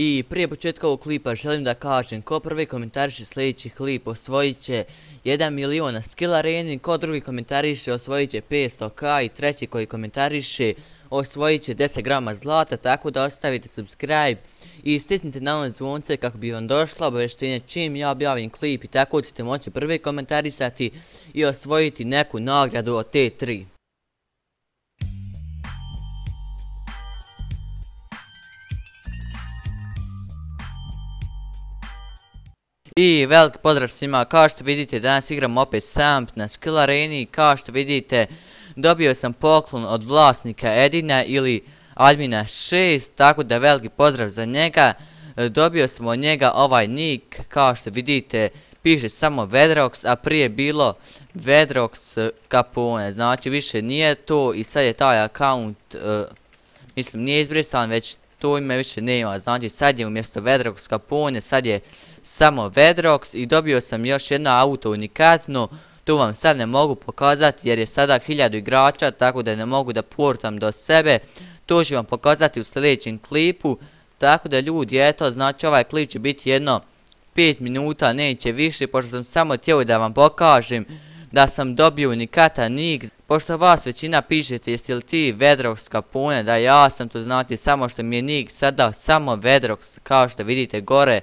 I prije početka ovog klipa želim da kažem, ko prvi komentariše sljedeći klip osvojit će 1 milion na Skill Areni, ko drugi komentariše osvojit će 500k i treći koji komentariše osvojit će 10 grama zlata, tako da ostavite subscribe i stisnite na ono zvonce kako bi vam došlo obavještenje čim ja objavim klip i tako ćete moći prvi komentarisati i osvojiti neku nagradu od te 3. I veliki pozdrav svima, kao što vidite danas igram opet sam na Skill Areni, kao što vidite dobio sam poklon od vlasnika Edina ili admina 6, tako da veliki pozdrav za njega. Dobio sam od njega ovaj nick, kao što vidite piše samo Vedrox, a prije bilo Vedrox Capone, znači više nije to i sad je taj account, mislim nije izbrisan, već to ime više nema, znači sad je umjesto Vedrox Capone, sad je samo Vedrox i dobio sam još jedno auto unikatno, tu vam sad ne mogu pokazati jer je sada 1000 igrača, tako da ne mogu da portam do sebe, to ću vam pokazati u sljedećem klipu, tako da ljudi, eto, znači ovaj klip će biti jedno 5 minuta, neće više, pošto sam samo htio da vam pokažem da sam dobio unikatan nick, pošto vas većina pišete jesi li ti Vedrox Capone, da ja sam, to znači samo što mi je nick sada samo Vedrox, kao što vidite gore,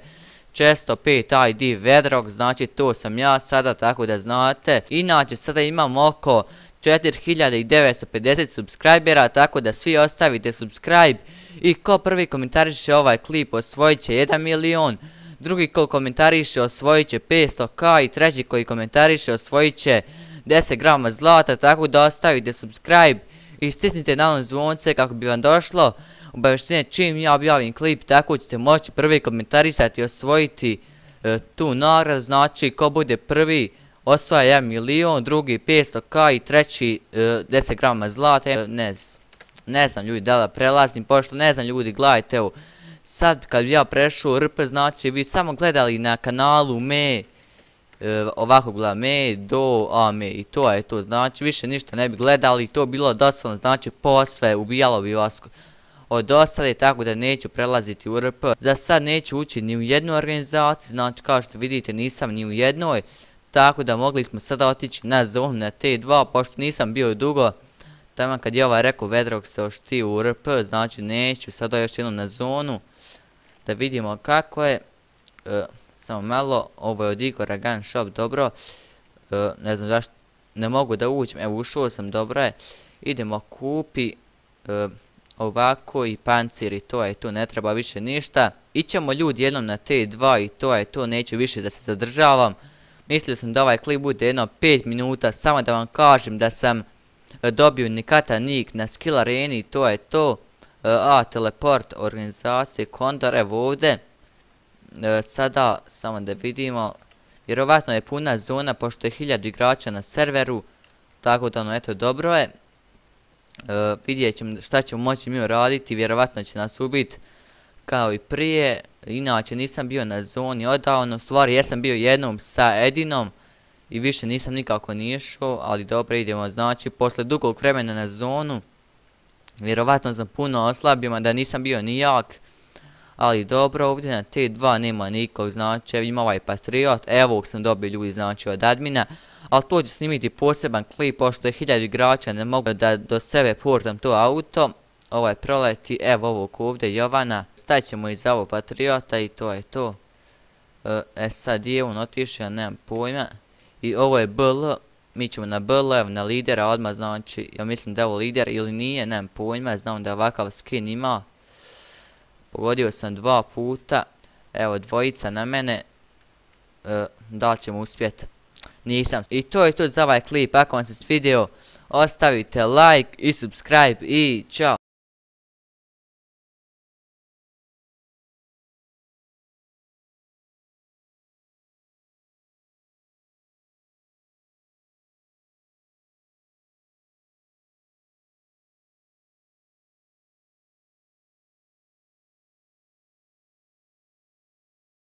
405 ID Vedrox, znači to sam ja sada, tako da znate. Inače sada imam oko 4950 subscribera, tako da svi ostavite subscribe i ko prvi komentariše ovaj klip osvojit će 1 milion, drugi ko komentariše osvojit će 500k i treći koji komentariše osvojit će 10 grama zlata, tako da ostavite subscribe i stisnite na ono zvonce kako bi vam došlo obavještenje čim ja objavim klip, tako ćete moći prvi komentarisati i osvojiti tu nagradu, znači ko bude prvi osvaja 1 milion, drugi 500k i treći 10 grama zlata. Ne znam ljudi da prelazim, pošto ne znam ljudi, gledajte evo, sad kad bi ja prešao RP, znači vi samo gledali na kanalu me, ovako gledam me, do, a me i to je to, znači više ništa ne bi gledali, to bilo doslovno, znači posve ubijalo bi vas od osade, tako da neću prelaziti u RP. Za sad neću ući ni u jednu organizaciju, znači kao što vidite nisam ni u jednoj, tako da mogli smo sada otići na zonu na T2, pošto nisam bio dugo, tamo kad je ovaj rekao Vedrox se ošti u RP, znači neću sada još jednu na zonu, da vidimo kako je, samo malo, ovo je od Igora Gun Shop, dobro, ne znam zašto ne mogu da uđem, evo ušao sam, dobro je, idemo kupi, ovako i pancir i to je to, ne treba više ništa. Ićemo ljudi jednom na T2 i to je to, neću više da se zadržavam. Mislio sam da ovaj klip bude jedno 5 minuta, samo da vam kažem da sam dobio unikatan nick na Skill Areni i to je to. Teleport organizacije Kondor, evo ovdje. Sada samo da vidimo, vjerovatno je puna zona pošto je 1000 igrača na serveru, tako da ono eto dobro je. Vidjet ćemo šta ćemo moći mi raditi, vjerovatno će nas ubiti kao i prije, inače nisam bio na zoni odavno, u stvari jesam bio jednom sa Edinom i više nisam nikako ni išao, ali dobro idemo, znači posle dugog vremena na zonu, vjerovatno sam puno oslabio, da nisam bio ni jak, ali dobro, ovdje na T2 nema nikog, znači ima ovaj Patriot, evo sam dobio ljudi znači od admina, ali to ću snimiti poseban klip, pošto je 1000 igrača, ne mogu da do sebe portam to auto, ovaj proleti, evo ovog ovdje Jovana, stavit ćemo iza ovog Patriota i to je to. Sad je on otišao, ja nemam pojma, i ovo je BL, mi ćemo na BL, evo na lidera odmah, znači, ja mislim da je ovo lider ili nije, nemam pojma, znam da ovakav skin ima. Pogodio sam 2 puta, evo dvojica na mene, da li ćemo uspjeti? Nisam. I to je to za ovaj klip, ako vam se svidio, ostavite like i subscribe i čao.